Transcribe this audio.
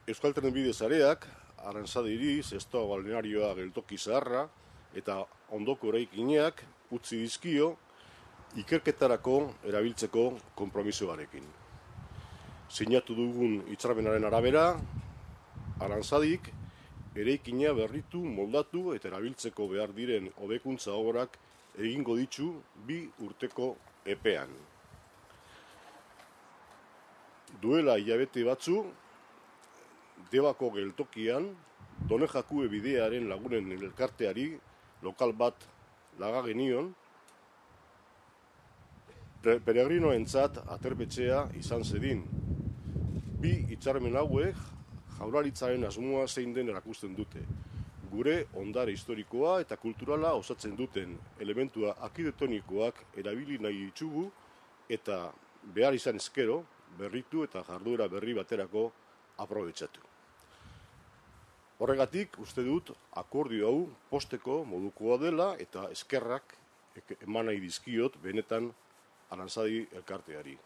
Euskal Trenbide sareak, Aranzadiri, Zestoa balnearioa geltoki zaharra eta ondoko eraikinak utzi dizkio ikerketarako erabiltzeko konpromisoarekin. Sinatu dugun hitzarmenaren arabera, Aranzadik eraikina berritu, moldatu eta erabiltzeko behar diren hobekuntza obrak egingo ditu 2 urteko epean. Duela hilabete batzu, Debako geltokian, Donejakue bidearen lagunen elkarteari lokal bat laga genion, peregrinoentzat aterpetxea izan zedin. 2 hitzarmen hauek Jaurlaritzaren asmoa zein den erakusten dute. Gure ondare historikoa eta kulturala osatzen duten elementua arkitektonikoak erabili nahi ditugu eta behar izan ezkero berritu eta jarduera berri baterako aprobetxatu. Horregatik, uste dut, akordio hau posteko modukoa dela eta eskerrak eman nahi dizkiot benetan Aranzadi elkarteari.